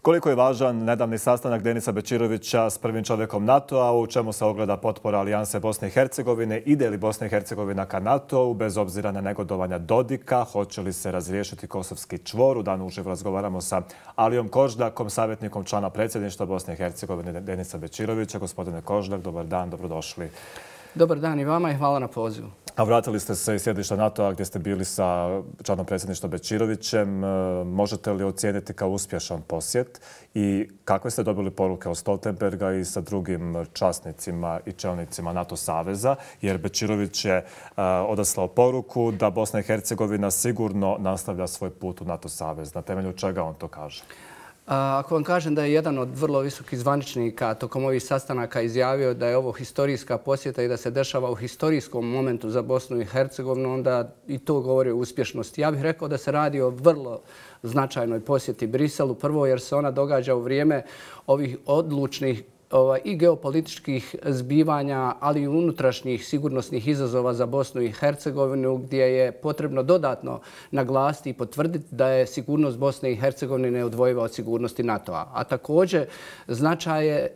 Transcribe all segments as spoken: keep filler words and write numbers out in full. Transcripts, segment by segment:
Koliko je važan nedavni sastanak Denisa Bećirovića s prvim čovjekom NATO-a, u čemu se ogleda potpora Alijanse Bosne i Hercegovine, ide li Bosna i Hercegovina ka NATO-u, bez obzira na negodovanja Dodika, hoće li se razriješiti kosovski čvor? U danu uživo razgovaramo sa Alijom Koždakom, savjetnikom člana predsjedništva Bosne i Hercegovine Denisa Bećirovića. Gospodine Koždak, dobar dan, dobrodošli. Dobar dan i vama i hvala na pozivu. A vratili ste se iz sjedišta NATO-a gdje ste bili sa članom predsjedništva Bećirovićem. Možete li ocijeniti kao uspješan posjet i kakve ste dobili poruke od Stoltenberga i sa drugim časnicima i čelnicima NATO saveza? Jer Bećirović je odaslao poruku da Bosna i Hercegovina sigurno nastavlja svoj put u NATO savez. Na temelju čega on to kaže? Ako vam kažem da je jedan od vrlo visokih zvaničnika tokom ovih sastanaka izjavio da je ovo historijska posjeta i da se dešava u historijskom momentu za Bosnu i Hercegovinu, onda i to govori o uspješnosti. Ja bih rekao da se radi o vrlo značajnoj posjeti Briselu. Prvo jer se ona događa u vrijeme ovih odlučnih i geopolitičkih zbivanja, ali i unutrašnjih sigurnosnih izazova za Bosnu i Hercegovinu, gdje je potrebno dodatno naglasiti i potvrditi da je sigurnost Bosne i Hercegovine neodvojiva od sigurnosti NATO-a. A također značaj je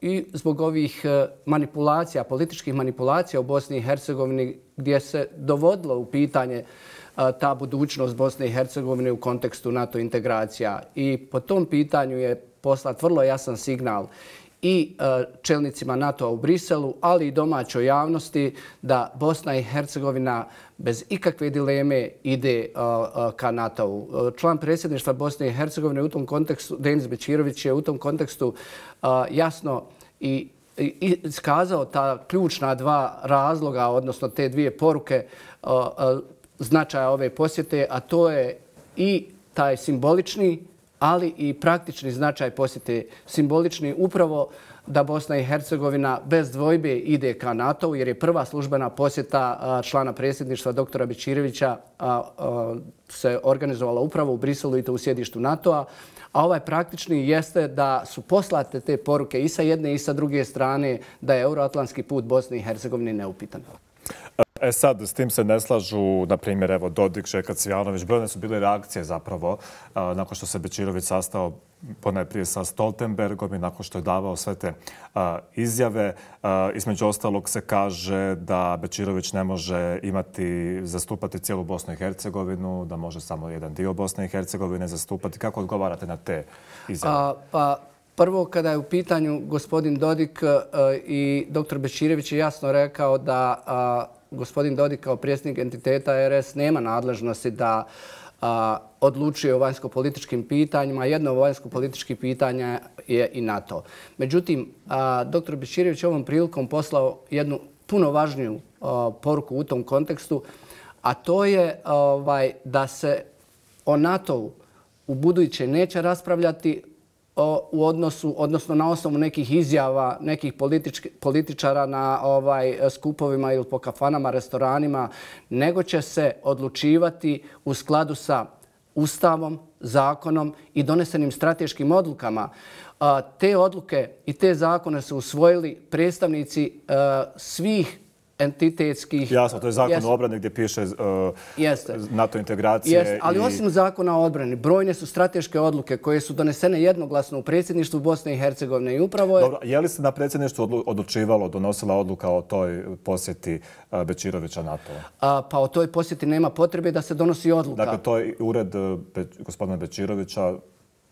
i zbog ovih manipulacija, političkih manipulacija u Bosni i Hercegovini, gdje se dovodilo u pitanje ta budućnost Bosne i Hercegovine u kontekstu NATO integracija. I po tom pitanju je poslat vrlo jasan signal i čelnicima NATO-a u Briselu, ali i domaćoj javnosti da Bosna i Hercegovina bez ikakve dileme ide ka NATO-u. Član predsjedništva Bosne i Hercegovine u tom kontekstu, Denis Bećirović, je u tom kontekstu jasno i iskazao ta ključna dva razloga, odnosno te dvije poruke značaja ove posjete, a to je i taj simbolični, ali i praktični značaj posjete. Simbolični upravo da Bosna i Hercegovina bez dvojbe ide ka NATO-u, jer je prva službena posjeta člana predsjedništva doktora Bećirovića se organizovala upravo u Briselu i to u sjedištu NATO-a. A ovaj praktični jeste da su poslate te poruke i sa jedne i sa druge strane da je euroatlantski put Bosne i Hercegovine neupitan. E sad, s tim se ne slažu, na primjer, evo, Dodik, Željko Cvijanović. Brojne su bile reakcije zapravo nakon što se Bećirović sastao ponajprije sa Stoltenbergom i nakon što je davao sve te izjave. Između ostalog se kaže da Bećirović ne može imati, zastupati cijelu Bosnu i Hercegovinu, da može samo jedan dio Bosne i Hercegovine zastupati. Kako odgovarate na te izjave? A, pa... Prvo, kada je u pitanju gospodin Dodik i doktor Bećirović je jasno rekao da gospodin Dodik kao predsjednik entiteta R S nema nadležnosti da odlučuje o vanjsko-političkim pitanjima. Jedno od vanjsko-političkih pitanja je i NATO. Međutim, doktor Bećirović ovom prilikom poslao jednu puno važniju poruku u tom kontekstu, a to je da se o NATO-u u buduće neće raspravljati u odnosu, odnosno na osnovu nekih izjava nekih političara na ovaj skupovima ili po kafanama, restoranima, nego će se odlučivati u skladu sa Ustavom, zakonom i donesenim strateškim odlukama. Te odluke i te zakone su usvojili predstavnici svih entitetskih... Jasno, to je zakon o obrani gdje piše NATO integracije. Ali osim zakona o odbrani, brojne su strateške odluke koje su donesene jednoglasno u predsjedništvu Bosne i Hercegovine i upravo je... Dobro, je li se na predsjedništvu odlučivalo, donosila odluka o toj posjeti Bećirovića NATO-a? Pa o toj posjeti nema potrebe da se donosi odluka. Dakle, to je ured gospodina Bećirovića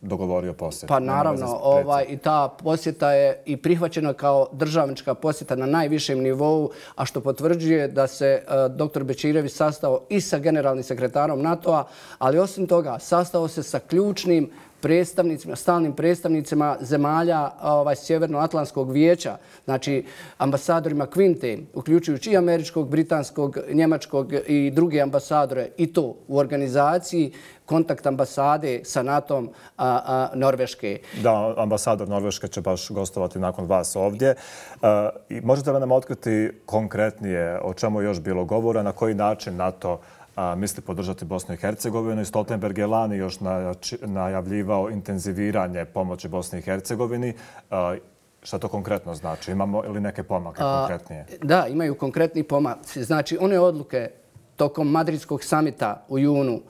dogovorio posjet. Pa naravno, i ta posjeta je i prihvaćena kao državnička posjeta na najvišem nivou, a što potvrđuje da se doktor Bećirović sastao i sa generalnim sekretarom NATO-a, ali osim toga sastao se sa ključnim predstavnicima, stalnim predstavnicima zemalja Sjevernoatlantskog vijeća, znači ambasadorima Kvinte, uključujući i američkog, britanskog, njemačkog i druge ambasadore, i to u organizaciji kontakt ambasade sa NATO-om Norveške. Da, ambasador Norveške će baš gostovati nakon vas ovdje. Možete li nam otkriti konkretnije o čemu je još bilo govora, na koji način NATO misli podržati Bosnu i Hercegovinu? I Stoltenberg je lani još najavljivao intenziviranje pomoći Bosni i Hercegovini. Šta to konkretno znači? Imamo li neke pomake konkretnije? Da, imaju konkretni pomaci. Znači, one odluke tokom Madridskog samita u junu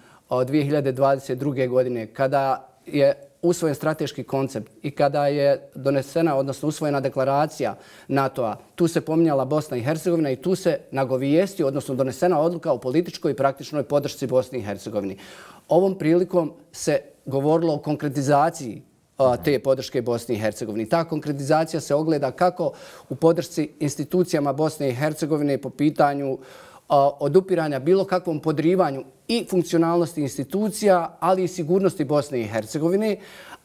dvije hiljade dvadeset druge. godine, kada je usvojen strateški koncept i kada je donesena, odnosno usvojena deklaracija NATO-a, tu se pominjala Bosna i Hercegovina i tu se nagovijestio, odnosno donesena odluka o političkoj i praktičnoj podršci Bosni i Hercegovini. Ovom prilikom se govorilo o konkretizaciji te podrške Bosni i Hercegovini. Ta konkretizacija se ogleda kako u podršci institucijama Bosne i Hercegovine po pitanju odupiranja bilo kakvom podrivanju i funkcionalnosti institucija, ali i sigurnosti Bosne i Hercegovine.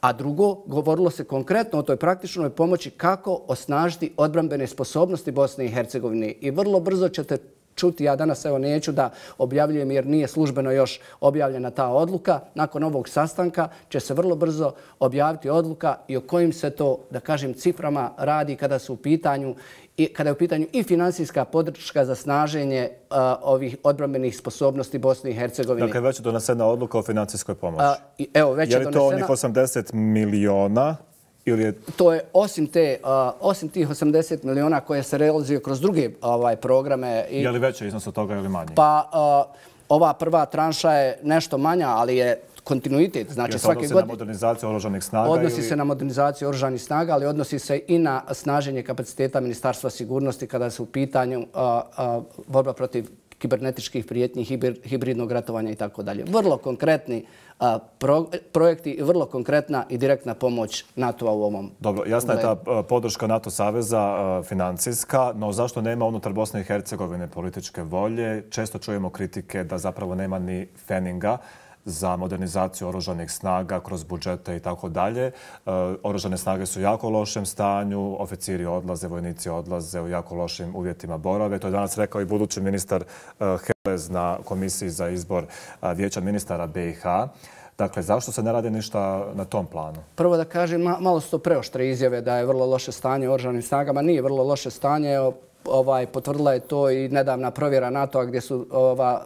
A drugo, govorilo se konkretno o toj praktičnoj pomoći kako osnažiti odbrambene sposobnosti Bosne i Hercegovine. I vrlo brzo ćete čuti, ja danas evo neću da objavljujem jer nije službeno još objavljena ta odluka. Nakon ovog sastanka će se vrlo brzo objaviti odluka i o kojim se to, da kažem, ciframa radi kada su u pitanju i kada je u pitanju i finansijska podrška za snaženje uh, ovih odbrambenih sposobnosti Bosne i Hercegovine. Dakle, već je donesena odluka o financijskoj pomoći. Uh, i, evo, već je, je li to onih osamdeset miliona? Ili je... To je osim, te, uh, osim tih osamdeset miliona koje se realizuju kroz druge ovaj, programe. I, je li veći iznos od toga ili manji? Pa uh, ova prva tranša je nešto manja, ali je kontinuitet. Znači, svake godine... Odnosi se na modernizaciju oružanih snaga? Odnosi ili... se na modernizaciju oružanih snaga, ali odnosi se i na snaženje kapaciteta Ministarstva sigurnosti kada se u pitanju uh, uh, borba protiv kibernetičkih prijetnji, hibridnog ratovanja i tako dalje. Vrlo konkretni a, pro, projekti i vrlo konkretna i direktna pomoć NATO-a u ovom. Dobro, jasna je ta podrška NATO saveza financijska, no zašto nema unutar Bosne i Hercegovine političke volje? Često čujemo kritike da zapravo nema ni feninga za modernizaciju oružanih snaga kroz budžete i tako dalje. Oružane snage su u jako lošem stanju, oficiri odlaze, vojnici odlaze u jako lošim uvjetima borave. To je danas rekao i budući ministar Helez na komisiji za izbor vijeća ministara be i ha. Dakle, zašto se ne radi ništa na tom planu? Prvo da kažem, malo su to preoštre izjave da je vrlo loše stanje u oružanim snagama. Nije vrlo loše stanje. Ovaj, potvrdila je to i nedavna provjera NATO-a gdje su ova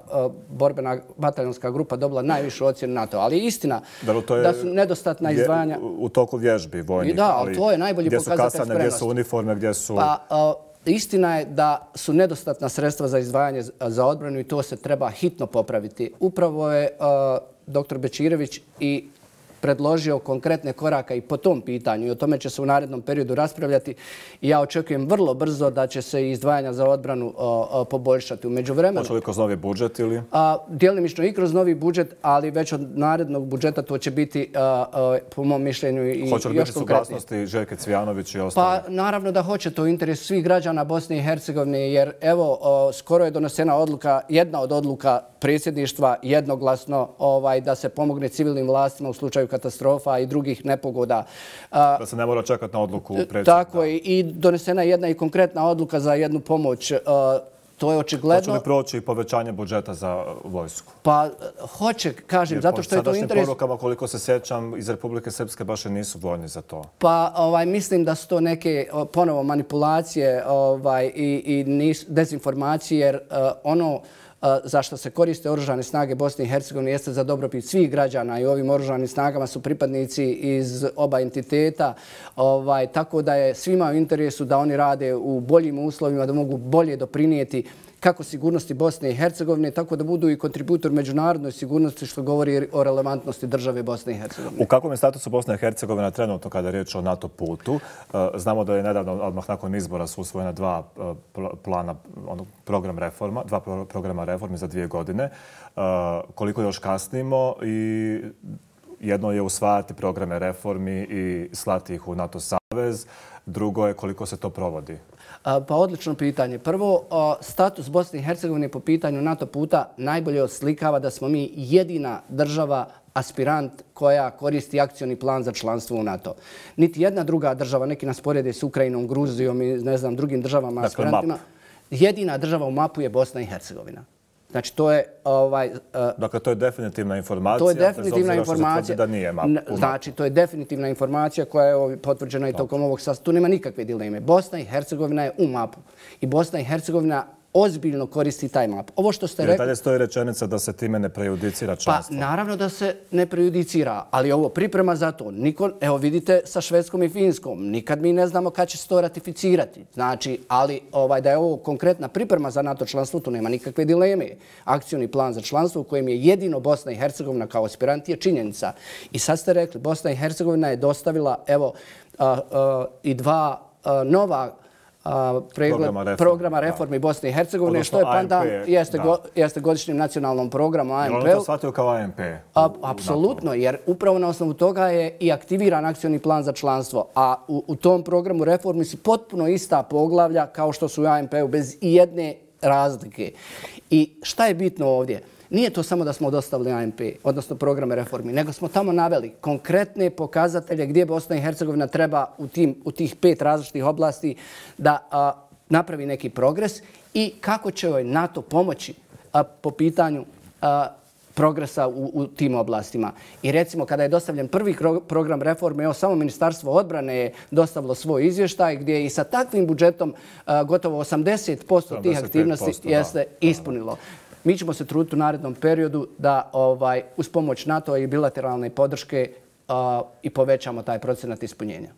borbena bataljonska grupa dobila najvišu ocjenu NATO-a. Ali istina da, je, da su nedostatna izdvajanja... U toku vježbi vojnih. Da, ali to je najbolji pokazatelj spremnosti. Gdje su kasane, gdje su uniforme, gdje su... Pa, a, istina je da su nedostatna sredstva za izdvajanje za odbranu i to se treba hitno popraviti. Upravo je a, doktor Bečirović i predložio konkretne koraka i po tom pitanju i o tome će se u narednom periodu raspravljati i ja očekujem vrlo brzo da će se izdvajanja za odbranu o, o, poboljšati. U međuvremenu... Hoće li kroz novi budžet ili? A, djelimično i kroz novi budžet, ali već od narednog budžeta to će biti a, a, po mom mišljenju i još konkretnije. Hoće li biti suglasnosti Željke Cvijanović i ostali? Pa naravno da hoće, to u interesu svih građana Bosne i Hercegovine jer evo o, skoro je donesena odluka, jedna od odluka predsjedništva jednoglasno ovaj, da se pomogne civilnim vlastima u slučaju katastrofa i drugih nepogoda. Da se ne mora čekati na odluku predsjednika. Tako je. I donesena je jedna i konkretna odluka za jednu pomoć. To je očigledno... Hoće li proći povećanje budžeta za vojsku? Pa hoće, kažem, zato što je to interes... Sadašnjim porukama, koliko se sjećam, iz Republike Srpske baš i nisu voljni za to. Pa ovaj, mislim da su to neke ponovo manipulacije ovaj, i, i nis, dezinformacije, jer uh, ono za što se koriste oružane snage Bosne i Hercegovine jeste za dobrobit svih građana i ovim oružanim snagama su pripadnici iz oba entiteta. Ovaj, tako da je svima u interesu da oni rade u boljim uslovima, da mogu bolje doprinijeti kako sigurnosti Bosne i Hercegovine, tako da budu i kontributor međunarodnoj sigurnosti, što govori o relevantnosti države Bosne i Hercegovine. U kakvom je statusu Bosna i Hercegovina trenutno kada je riječ o NATO putu? Znamo da je nedavno, odmah nakon izbora, su usvojena dva plana, program reforma, dva programa reformi za dvije godine. Koliko još kasnimo i jedno je usvajati programe reformi i slati ih u NATO savez. Drugo je koliko se to provodi. Pa odlično pitanje. Prvo, status Bosne i Hercegovine po pitanju NATO puta najbolje oslikava da smo mi jedina država aspirant koja koristi akcioni plan za članstvo u NATO. Niti jedna druga država, neki nas porede s Ukrajinom, Gruzijom i ne znam drugim državama dakle, aspirantima. Map. Jedina država u mapu je Bosna i Hercegovina. Znači, to je... Ovaj, uh, dakle, to je definitivna informacija. To je definitivna informacija. Da nije map, znači, to je definitivna informacija koja je potvrđena i tokom ovog sastanka. Tu nema nikakve dileme. Bosna i Hercegovina je u mapu. I Bosna i Hercegovina ozbiljno koristi taj map. Ovo što ste rekli... I dalje stoji rečenica da se time ne prejudicira članstvo. Pa naravno da se ne prejudicira, ali ovo priprema za to. Niko, evo vidite sa Švedskom i Finskom, nikad mi ne znamo kad će se to ratificirati. Znači, ali ovaj, da je ovo konkretna priprema za NATO članstvo, tu nema nikakve dileme. Akcioni plan za članstvo u kojem je jedino Bosna i Hercegovina kao aspirant je činjenica. I sad ste rekli, Bosna i Hercegovina je dostavila evo a, a, i dva a, nova pregled programa reformi, programa reformi Bosne i Hercegovine, odnosno, što je pandan jeste, go, jeste godišnjim nacionalnom programu A M P. Oni to shvatio kao A M P? Apsolutno, jer upravo na osnovu toga je i aktiviran akcioni plan za članstvo. A u, u tom programu reformi su potpuno ista poglavlja kao što su u A M P-u bez i jedne razlike. I šta je bitno ovdje? Nije to samo da smo dostavili A M P, odnosno programe reformi, nego smo tamo naveli konkretne pokazatelje gdje Bosna i Hercegovina treba u, tim, u tih pet različitih oblasti da a, napravi neki progres i kako će joj NATO pomoći a, po pitanju a, progresa u, u tim oblastima. I recimo kada je dostavljen prvi program reforme, evo samo Ministarstvo odbrane je dostavilo svoj izvještaj gdje je i sa takvim budžetom a, gotovo osamdeset posto tih aktivnosti jeste ispunilo. Mi ćemo se truditi u narednom periodu da ovaj, uz pomoć NATO i bilateralne podrške uh, i povećamo taj procenat ispunjenja.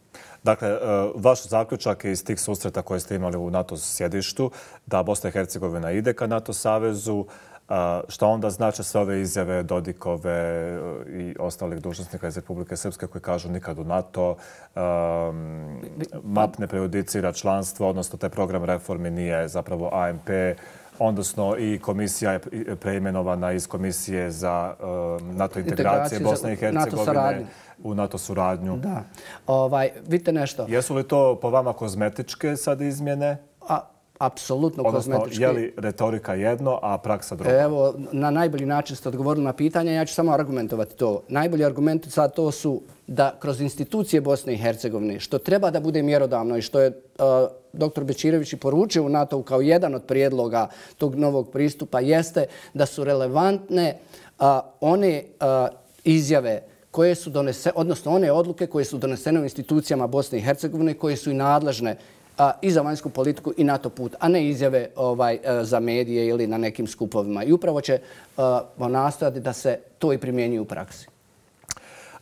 Dakle, uh, vaš zaključak je iz tih susreta koje ste imali u NATO sjedištu da Bosna i Hercegovina ide ka NATO savezu. Uh, šta onda znači sve ove izjave Dodikove uh, i ostalih dužnosnika iz Republike Srpske koji kažu nikad u NATO, um, map ne prejudicira članstvo, odnosno taj program reformi nije zapravo A M P, odnosno i komisija je preimenovana iz Komisije za uh, NATO integracije Bosne i Hercegovine u NATO suradnju. Da. Ovaj, vidite nešto. Jesu li to po vama kozmetičke sad izmjene? A, apsolutno odnosno, kozmetičke. Odnosno, je li retorika jedno, a praksa drugo? Evo, na najbolji način ste odgovorili na pitanje. Ja ću samo argumentovati to. Najbolji argumenti sad to su da kroz institucije Bosne i Hercegovine, što treba da bude mjerodavno i što je uh, doktor Bećirović i poručio u NATO kao jedan od prijedloga tog novog pristupa, jeste da su relevantne uh, one uh, izjave koje su donesene, odnosno one odluke koje su donesene u institucijama Bosne i Hercegovine, koje su i nadležne a, i za vanjsku politiku i NATO put, a ne izjave ovaj, za medije ili na nekim skupovima. I upravo će uh, nastojati da se to i primjenjuje u praksi.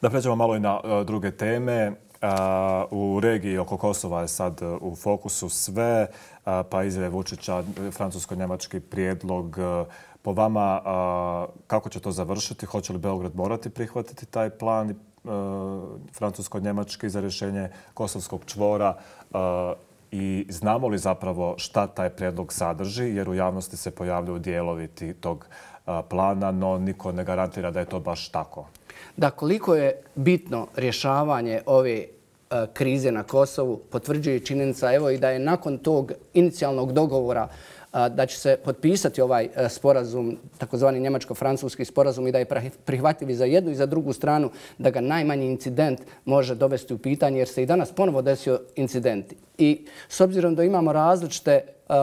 Da pređemo malo i na uh, druge teme. Uh, u regiji oko Kosova je sad uh, u fokusu sve, uh, pa izjave Vučića, francusko-njemački prijedlog. Uh, po vama, uh, kako će to završiti? Hoće li Beograd morati prihvatiti taj plan uh, francusko-njemački za rješenje kosovskog čvora? Uh, I znamo li zapravo šta taj prijedlog sadrži? Jer u javnosti se pojavljaju dijelovi tog uh, plana, no niko ne garantira da je to baš tako. Da, koliko je bitno rješavanje ove uh, krize na Kosovu, potvrđuje činjenica evo i da je nakon tog inicijalnog dogovora uh, da će se potpisati ovaj uh, sporazum, takozvani njemačko-francuski sporazum i da je prihvatljiv i za jednu i za drugu stranu, da ga najmanji incident može dovesti u pitanje jer se i danas ponovo desio incidenti. I s obzirom da imamo različite uh,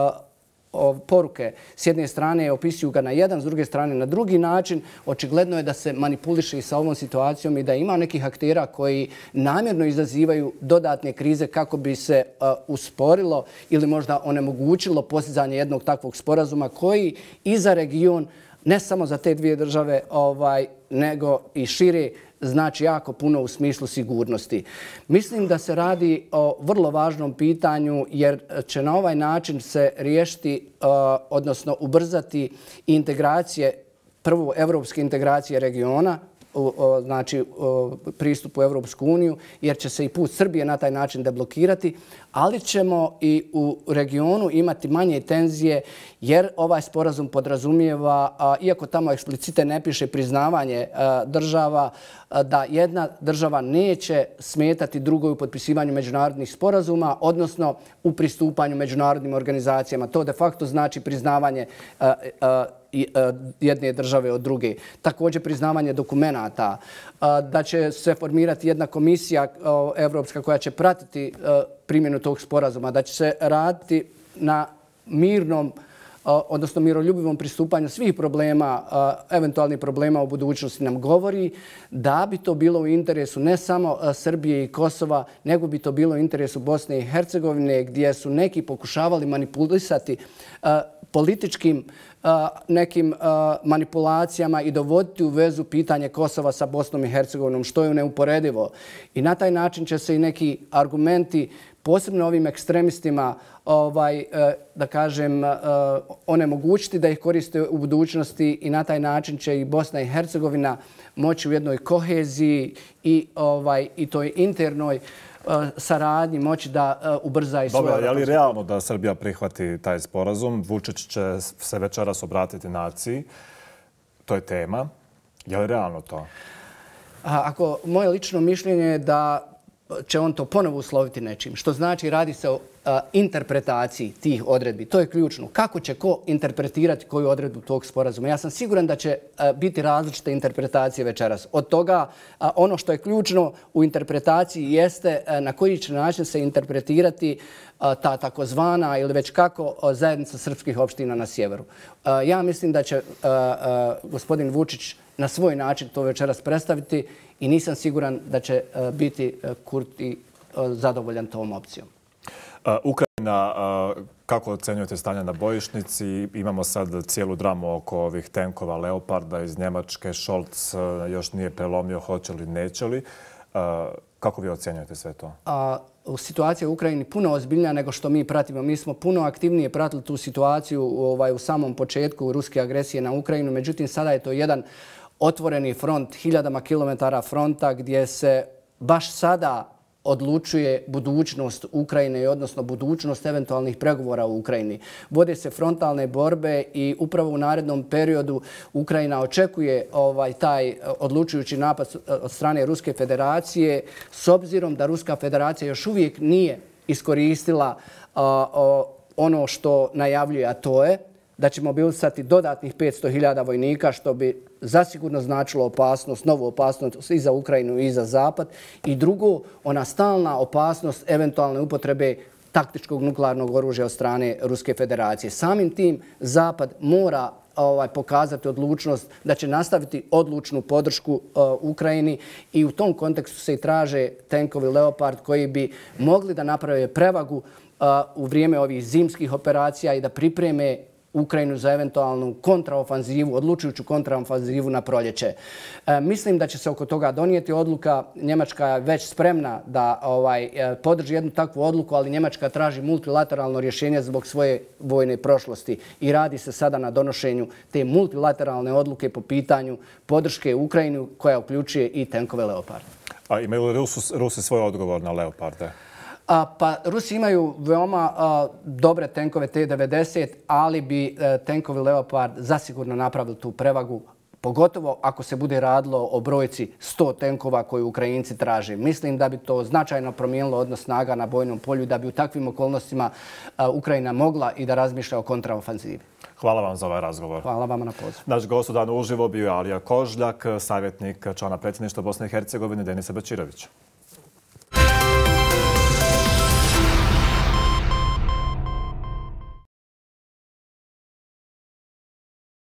poruke, s jedne strane opisuju ga na jedan, s druge strane na drugi način, očigledno je da se manipuliše i sa ovom situacijom i da ima nekih aktera koji namjerno izazivaju dodatne krize kako bi se uh, usporilo ili možda onemogućilo postizanje jednog takvog sporazuma koji i za region, ne samo za te dvije države, ovaj, nego i šire, znači jako puno u smislu sigurnosti. Mislim da se radi o vrlo važnom pitanju jer će na ovaj način se riješiti, uh, odnosno ubrzati integracije, prvo evropske integracije regiona, u, o, znači o, pristup u Evropsku uniju, jer će se i put Srbije na taj način deblokirati, ali ćemo i u regionu imati manje tenzije jer ovaj sporazum podrazumijeva, a, iako tamo eksplicite ne piše priznavanje a, država, a, da jedna država neće smetati drugoj u potpisivanju međunarodnih sporazuma, odnosno u pristupanju međunarodnim organizacijama. To de facto znači priznavanje a, a, jedne države od druge. Također priznavanje dokumenata, da će se formirati jedna komisija evropska koja će pratiti primjenu tog sporazuma, da će se raditi na mirnom odnosno miroljubivom pristupanju svih problema, eventualnih problema u budućnosti nam govori da bi to bilo u interesu ne samo Srbije i Kosova, nego bi to bilo u interesu Bosne i Hercegovine, gdje su neki pokušavali manipulisati političkim nekim manipulacijama i dovoditi u vezu pitanje Kosova sa Bosnom i Hercegovinom, što je neuporedivo. I na taj način će se i neki argumenti, posebno ovim ekstremistima, ovaj, da kažem, onemogućiti da ih koriste u budućnosti i na taj način će i Bosna i Hercegovina moći u jednoj koheziji i, ovaj, i toj internoj saradnji moći da ubrza i svoje... Dobro, je li realno da Srbija prihvati taj sporazum? Vučić će se večeras obratiti naciji. To je tema. Je li realno to? Ako moje lično mišljenje je da će on to ponovo usloviti nečim. Što znači radi se o a, interpretaciji tih odredbi. To je ključno. Kako će ko interpretirati koju odredbu tog sporazuma? Ja sam siguran da će a, biti različite interpretacije večeras. Od toga a, ono što je ključno u interpretaciji jeste a, na koji će način se interpretirati a, ta takozvana ili već kako a, zajednica srpskih opština na sjeveru. A, ja mislim da će a, a, gospodin Vučić na svoj način to večeras predstaviti i nisam siguran da će biti Kurti zadovoljan tom opcijom. Ukrajina, kako ocenjujete stanje na bojišnici? Imamo sad cijelu dramu oko ovih tenkova Leoparda iz Njemačke. Scholz još nije prelomio hoće li, neće li. Kako vi ocenjujete sve to? Situacija u Ukrajini puno ozbiljnija nego što mi pratimo. Mi smo puno aktivnije pratili tu situaciju ovaj, u samom početku ruske agresije na Ukrajinu. Međutim, sada je to jedan otvoreni front, hiljadama kilometara fronta gdje se baš sada odlučuje budućnost Ukrajine i odnosno budućnost eventualnih pregovora u Ukrajini. Vode se frontalne borbe i upravo u narednom periodu Ukrajina očekuje ovaj taj odlučujući napad od strane Ruske federacije s obzirom da Ruska federacija još uvijek nije iskoristila a, a, ono što najavljuje, a to je da će mobilisati dodatnih petsto hiljada vojnika, što bi zasigurno značilo opasnost, novu opasnost i za Ukrajinu i za Zapad. I drugo, ona stalna opasnost eventualne upotrebe taktičkog nuklearnog oružja od strane Ruske federacije. Samim tim Zapad mora ovaj, pokazati odlučnost da će nastaviti odlučnu podršku uh, Ukrajini i u tom kontekstu se i traže tenkovi Leopard koji bi mogli da naprave prevagu uh, u vrijeme ovih zimskih operacija i da pripreme Ukrajinu za eventualnu kontraofanzivu, odlučujuću kontraofanzivu na proljeće. E, mislim da će se oko toga donijeti odluka. Njemačka je već spremna da ovaj, podrži jednu takvu odluku, ali Njemačka traži multilateralno rješenje zbog svoje vojne prošlosti i radi se sada na donošenju te multilateralne odluke po pitanju podrške Ukrajinu koja uključuje i tenkove Leopard. A imaju li Rusi, Rusi svoj odgovor na Leoparde? A, pa Rusi imaju veoma a, dobre tenkove T devedeset, ali bi a, tenkovi Leopard zasigurno napravili tu prevagu, pogotovo ako se bude radilo o brojci sto tenkova koju Ukrajinci traže. Mislim da bi to značajno promijenilo odnos snaga na bojnom polju, da bi u takvim okolnostima a, Ukrajina mogla i da razmišlja o kontraofanzivi. Hvala vam za ovaj razgovor. Hvala vama na poziv. Naš gost u danu uživo bio je Alija Kožljak, savjetnik člana predsjedništva Bosne i Hercegovine Denisa Bečirovića.